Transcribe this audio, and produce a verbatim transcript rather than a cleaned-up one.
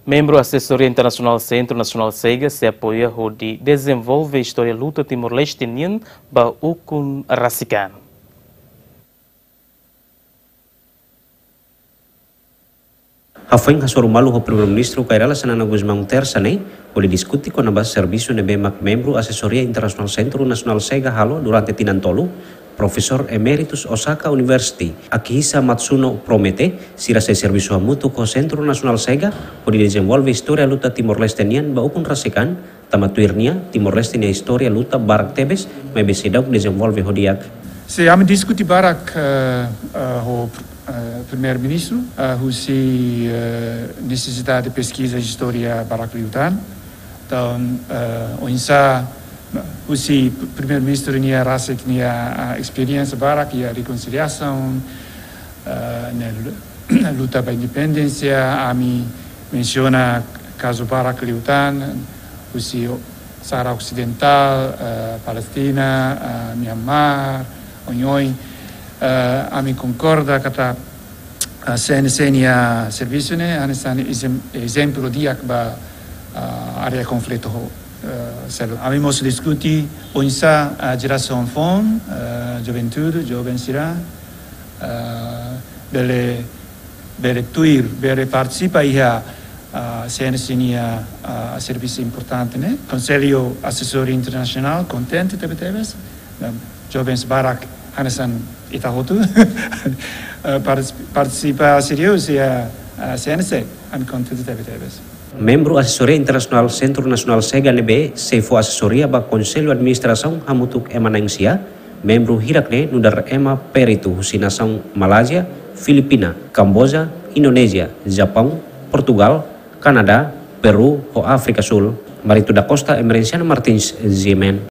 Membru Asesoria Internasionál Sentru Nasionál SEGA sei apoia hodi dezenvolve istória luta Timor-Leste nian ba ukun rasik an. Hafoin hasoru malu ho Primeiru-Ministru Kay Rala Xanana Gusmão Tersa ne'e, hodi diskute kona-ba servisu ne'ebé mak membru Asesoria Internasionál Sentru Nasionál SEGA halo durante tinan tolu, Profesór Emeritus Osaka University, Akihisa Matsuno promete, sira sei servisu hamutuk ho Sentru Nasionál SEGA, hodi dezenvolve istória luta Timor-Leste nian ba ukun rasik an, tanba tuir nia, Timor-Leste nia istória luta barak tebes, maibé seidauk dezenvolve ho di'ak. Sin, ami diskute barak, eh, eh, ho, eh, Primeiru-Ministru, eh, husi, eh, nesesidade peskiza istória barak liután. Entaun, eh, oinsá, husi Primeiru-Ministru nia rasik nia, ah, esperiénsia barak iha rekonsiliasaun, eh, ne'e lu-, luta ba independénsia, ami mensiona kazu barak liután, husi Saara Osidentál, eh, Palestina, eh, Myanmar, oioin, eh, ami konkorda katak, eh, CNC nia servisu ne'e hanesan ezem-, ezemplu di'ak ba, eh, área konflitu ho, eh, seluk. Ami mós diskute oinsá, eh, jerasaun foun, eh, juventude, joven sira, eh, bele, bele tuir, bele partisipa iha, ah, CNC nia, ah, servisu importante ne'e. Konsellu Asesoria Internasionál kontente tebetebes. Em, jovens barak hanesan ita hotu, eh, partis-, partisipa serius iha, ah, CNC, ami kontente tebetebes. Membru Asesoria Internasionál Sentru Nasionál SEGA ne'ebé sei fó asesoria ba Konsellu Administrasaun hamutuk ema na'in-sia, membru hirak ne'e nu'udar ema peritu husi nasaun Malázia, Filipina, Kamboja, Indonézia, Japaun, Portugál, Kanadá, Peru, ho Áfrika Súl. Marito da Costa, Emerenciano Martins, G M N.